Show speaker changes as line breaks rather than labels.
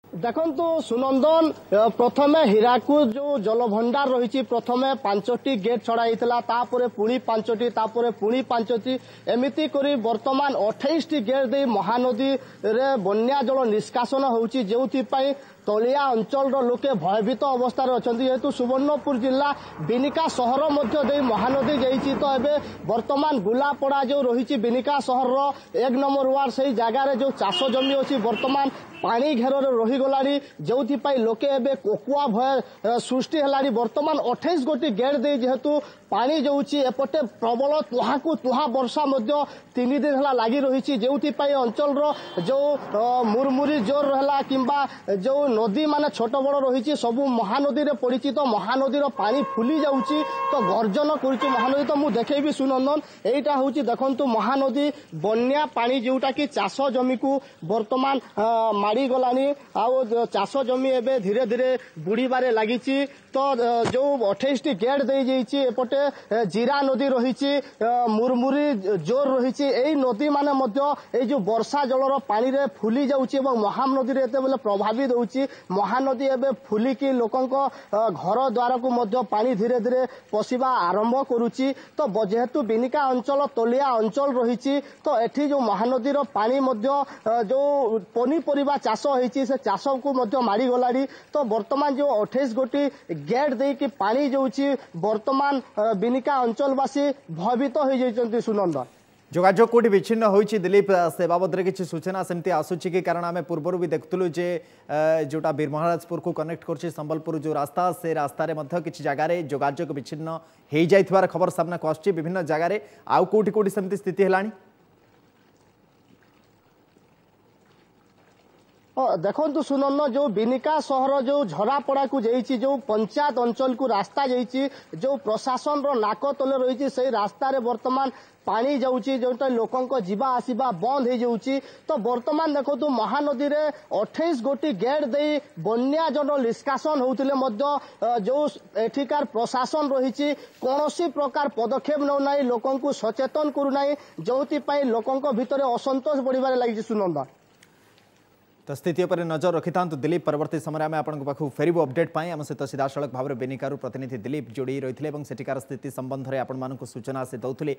ଦେଖନ୍ତୁ ସୁନନ୍ଦନ, ପ୍ରଥମେ ହୀରାକୁଦ ଯୋଉ ଜଳଭଣ୍ଡାର ରହିଛି, ପ୍ରଥମେ 5ଟି ଗେଟ୍ ଛଡ଼ା ହେଇଥିଲା, ତାପରେ ପୁଣି 5ଟି, ତାପରେ ପୁଣି 5ଟି, ଏମିତି କରି ବର୍ତ୍ତମାନ 28ଟି ଗେଟ୍ ଦେଇ ମହାନଦୀରେ ବନ୍ୟା ଜଳ ନିଷ୍କାସନ ହେଉଛି, ଯେଉଁଥିପାଇଁ ତଳିଆ ଅଞ୍ଚଳର ଲୋକେ ଭୟଭୀତ ଅବସ୍ଥାରେ ଅଛନ୍ତି। ଯେହେତୁ ସୁବର୍ଣ୍ଣପୁର ଜିଲ୍ଲା ବିନିକା ସହର ମଧ୍ୟ ଦେଇ ମହାନଦୀ ଯାଇଛି, ତ ଏବେ ବର୍ତ୍ତମାନ ଗୁଲାପଡ଼ା ଯେଉଁ ରହିଛି ବିନିକା ସହରର 1 ନମ୍ବର ୱାର୍ଡ, ସେଇ ଜାଗାରେ ଯେଉଁ ଚାଷ ଜମି ଅଛି ବର୍ତ୍ତମାନ ପାଣି ଘେରରେ ରହିଗଲାଣି, ଯେଉଁଥିପାଇଁ ଲୋକେ ଏବେ କୋକୁଆ ଭୟ ସୃଷ୍ଟି ହେଲାଣି। ବର୍ତ୍ତମାନ 28 ଗୋଟି ଗେଟ୍ ଦେଇ ଯେହେତୁ ପାଣି ଯାଉଛି, ଏପଟେ ପ୍ରବଳ ତୁହାକୁ ତୁହା ବର୍ଷା ମଧ୍ୟ 3 ଦିନ ହେଲା ଲାଗି ରହିଛି, ଯେଉଁଥିପାଇଁ ଅଞ୍ଚଳର ଯେଉଁ ମୁରମୁରି ଜୋର ହେଲା କିମ୍ବା ଯେଉଁ ନଦୀ ମାନେ ଛୋଟ ବଡ଼ ରହିଛି ସବୁ ମହାନଦୀରେ ପଡ଼ିଛି। ତ ମହାନଦୀର ପାଣି ଫୁଲି ଯାଉଛି, ତ ଗର୍ଜନ କରୁଛି ମହାନଦୀ। ତ ମୁଁ ଦେଖେଇବି ସୁନନ୍ଦନ, ଏଇଟା ହେଉଛି ଦେଖନ୍ତୁ ମହାନଦୀ ବନ୍ୟା ପାଣି, ଯେଉଁଟାକି ଚାଷ ଜମିକୁ ବର୍ତ୍ତମାନ ମାଡ଼ିଗଲାଣି ଆଉ ଚାଷ ଜମି ଏବେ ଧୀରେ ଧୀରେ ବୁଡ଼ିବାରେ ଲାଗିଛି। ତ ଯେଉଁ 28ଟି ଗେଟ୍ ଦେଇଯାଇଛି, ଏପଟେ ଜିରା ନଦୀ ରହିଛି, ମୁରମୁରି ଜୋର ରହିଛି, ଏଇ ନଦୀମାନେ ମଧ୍ୟ ଏଇ ଯେଉଁ ବର୍ଷା ଜଳର ପାଣିରେ ଫୁଲି ଯାଉଛି ଏବଂ ମହାନଦୀରେ ଏତେବେଳେ ପ୍ରଭାବିତ ହେଉଛି। ମହାନଦୀ ଏବେ ଫୁଲିକି ଲୋକଙ୍କ ଘର ଦ୍ୱାରକୁ ମଧ୍ୟ ପାଣି ଧୀରେ ଧୀରେ ପଶିବା ଆରମ୍ଭ କରୁଛି। ତ ଯେହେତୁ ବିନିକା ଅଞ୍ଚଳ ତଳିଆ ଅଞ୍ଚଳ ରହିଛି, ତ ଏଠି ଯେଉଁ ମହାନଦୀର ପାଣି ମଧ୍ୟ ଯେଉଁ ପନିପରିବା ଚାଷ ହେଇଛି ସେ ଚାଷକୁ ମଧ୍ୟ ମାଡ଼ିଗଲାଣି। ତ ବର୍ତ୍ତମାନ ଯେଉଁ 28 ଗୋଟି ଗେଟ୍ ଦେଇକି ପାଣି ଯାଉଛି, ବର୍ତ୍ତମାନ ବିନିକା ଅଞ୍ଚଳବାସୀ ଭୟଭୀତ ହୋଇଯାଇଛନ୍ତି। ସୁନନ୍ଦନ,
ଯୋଗାଯୋଗ କେଉଁଠି ବିଚ୍ଛିନ୍ନ ହୋଇଛି ଦିଲ୍ଲୀପ, ସେ ବାବଦରେ କିଛି ସୂଚନା ସେମିତି ଆସୁଛି କି? କାରଣ ଆମେ ପୂର୍ବରୁ ବି ଦେଖୁଥିଲୁ ଯେ ଯେଉଁଟା ବୀରମହାରାଜପୁରକୁ କନେକ୍ଟ କରୁଛି ସମ୍ବଲପୁର ଯେଉଁ ରାସ୍ତା, ସେ ରାସ୍ତାରେ ମଧ୍ୟ କିଛି ଜାଗାରେ ଯୋଗାଯୋଗ ବିଚ୍ଛିନ୍ନ ହେଇଯାଇଥିବାର ଖବର ସାମ୍ନାକୁ ଆସୁଛି ବିଭିନ୍ନ ଜାଗାରେ। ଆଉ କେଉଁଠି କେଉଁଠି ସେମିତି ସ୍ଥିତି ହେଲାଣି?
ଦେଖନ୍ତୁ ସୁନନ୍ଦ, ଯେଉଁ ବିନିକା ସହର ଯେଉଁ ଝରାପଡ଼ାକୁ ଯାଇଛି, ଯେଉଁ ପଞ୍ଚାୟତ ଅଞ୍ଚଳକୁ ରାସ୍ତା ଯାଇଛି, ଯେଉଁ ପ୍ରଶାସନର ନାକ ତଳେ ରହିଛି, ସେଇ ରାସ୍ତାରେ ବର୍ତ୍ତମାନ ପାଣି ଯାଉଛି, ଯେଉଁଟା ଲୋକଙ୍କ ଯିବା ଆସିବା ବନ୍ଦ ହେଇଯାଉଛି। ତ ବର୍ତ୍ତମାନ ଦେଖନ୍ତୁ ମହାନଦୀରେ 28 ଗୋଟି ଗେଟ୍ ଦେଇ ବନ୍ୟା ଜଳ ନିଷ୍କାସନ ହେଉଥିଲେ ମଧ୍ୟ ଯେଉଁ ଏଠିକାର ପ୍ରଶାସନ ରହିଛି କୌଣସି ପ୍ରକାର ପଦକ୍ଷେପ ନେଉନାହିଁ, ଲୋକଙ୍କୁ ସଚେତନ କରୁନାହିଁ, ଯେଉଁଥିପାଇଁ ଲୋକଙ୍କ ଭିତରେ ଅସନ୍ତୋଷ ବଢ଼ିବାରେ ଲାଗିଛି। ସୁନନ୍ଦ,
ତ ସ୍ଥିତି ଉପରେ ନଜର ରଖିଥାନ୍ତୁ ଦିଲ୍ଲୀପ। ପରବର୍ତ୍ତୀ ସମୟରେ ଆମେ ଆପଣଙ୍କ ପାଖକୁ ଫେରିବୁ ଅପଡେଟ୍ ପାଇଁ। ଆମ ସହିତ ସିଧାସଳଖ ଭାବରେ ବେନିକାରୁ ପ୍ରତିନିଧି ଦିଲ୍ଲୀପ ଯୋଡ଼ି ରହିଥିଲେ ଏବଂ ସେଠିକାର ସ୍ଥିତି ସମ୍ବନ୍ଧରେ ଆପଣମାନଙ୍କୁ ସୂଚନା ସେ ଦେଉଥିଲେ।